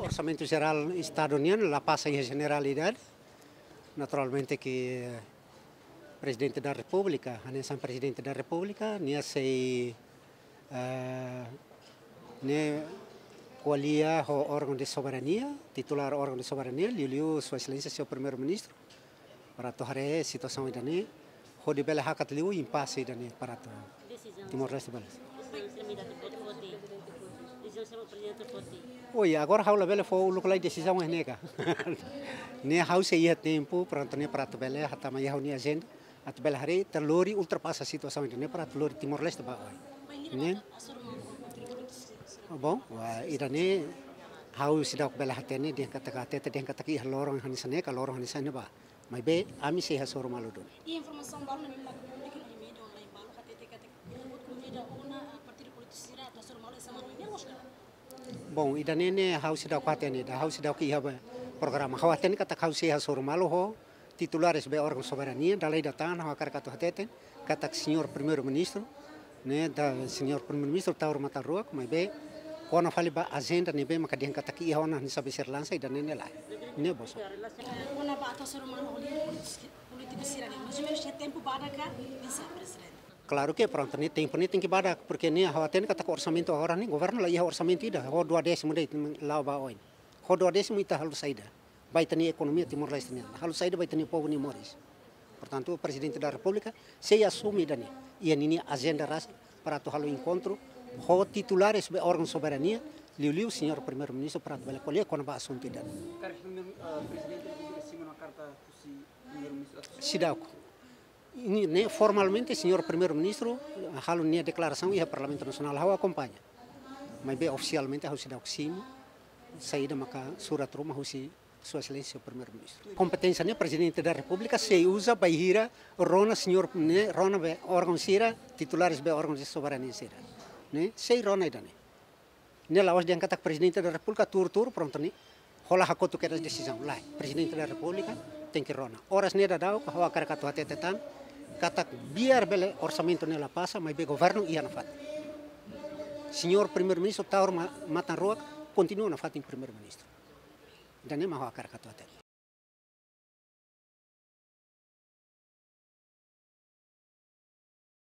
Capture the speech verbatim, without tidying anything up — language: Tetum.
Orsamentu Jerál Estadu nian la pasa iha jeneralidade. Naturalmente ke Prezidente da Repúblika, hanesan Prezidente da Repúblika, nia sei, eh, nia ko'alia ho órgaun de soberania, titulár órgaun de soberania, liuliu Sua Exelénsia Señór Primeiru-Ministru, para atu haree situasaun ida-ne'e, hodi bele hakat liu impase ida-ne'e para atu Timor-Leste bele. Oi, agora ha'u labele fó uluk lai desizaun iha ne'e ka. Ne'e ha'u sei iha tempu, prontu, ne'e para atu bele hatama iha ha'u-nia ajenda, atu bele haree ita lori ultrapasa situasaun ida-ne'e para atu lori Timor-Leste ba oin. Ne'e? Bom, wa, ida-ne'e ha'u seidauk bele hatene dehan katak hatete dehan katak iha loron hanesan ne'e ka loron hanesan ne'ebá. Maibé ami sei hasoru malu duni. I informasaun balu ne'ebé mak públiku no media online balu hatete katak ita-boot konvida ona, ah, partidu polítiku sira atu hasoru malu iha semana ne'e, loos ka? Bom, ida-ne'e ne'e ha'u seidauk hatene, ida ha'u seidauk iha ba programa. Ha'u hatene katak ha'u sei hasoru malu ho titulares be órgaun soberania, dala ida tan ha'u hakarak atu hateten katak Señór Primeiru-Ministru, ne'e, da Señór Primeiru-Ministru tau ruma tau ruak, maibé kona fali ba ajenda ne'ebé maka dehan katak iha ona hanesan be sira lansa ida-ne'e ne'e lae. Ne'e, boso. Kona-ba atu hasoru malu ho líder polítiku sira-ne'e, mais ou menus iha tempu badak ka, oinsá, Prezidente? Klaru ke prontu, ne'e tempu ne'e tenke badak, porque ne'e ha'u hatene katak orsamentu agora ne'e, governu la iha orsamentu ida, ho duodésimu de'it la'o ba oin. Ho duodésimu ita halo saida ba ita-nia ekonomia Timor-Leste nian, halo saida ba ita-nia povu nia moris. Portantu, Prezidente da Repúblika sei asume ida-ne'e iha ninia ajenda rasik para atu halo enkontru ho titulares be órgaun soberania, liuliu Señór Primeiru-Ministru para atu bele ko'alia kona-ba asuntu ida-ne'e. Karik, eh, Prezidente Repúblika simu ona karta husi Primeiru-Ministru? Seidauk. Ne'e, ne'e formalmente Señór Primeiru-Ministru halo nia deklarasaun iha Parlamentu Nasionál, ha'u akompaña. Maibé ofisialmente ha'u seidauk simu saida maka surat ruma husi Sua Exelénsia Primeiru-Ministru. Kompeténsia ne'e Prezidente da Repúblika sei uza bainhira rona Señór ne'e, rona be órgaun sira, titulares be órgaun de soberania sira. Ne'e, sei rona ida-ne'e. Ne'e la'ós dehan katak Prezidente da Repúblika tuur-tuur, prontu, ne'e hola hakotu kedas desizaun. Lae, Prezidente da Repúblika tenke rona. Oras ne'e daudaun ha'u hakarak atu hatete tan katak biar bele orsamentu ne'e la pasa, maibé governu iha nafatin. Señór Primeiru-Ministru tau ruma matan ruak, kontinua nafatin Primeiru-Ministru. Ida-ne'e mak ha'u hakarak atu hatete.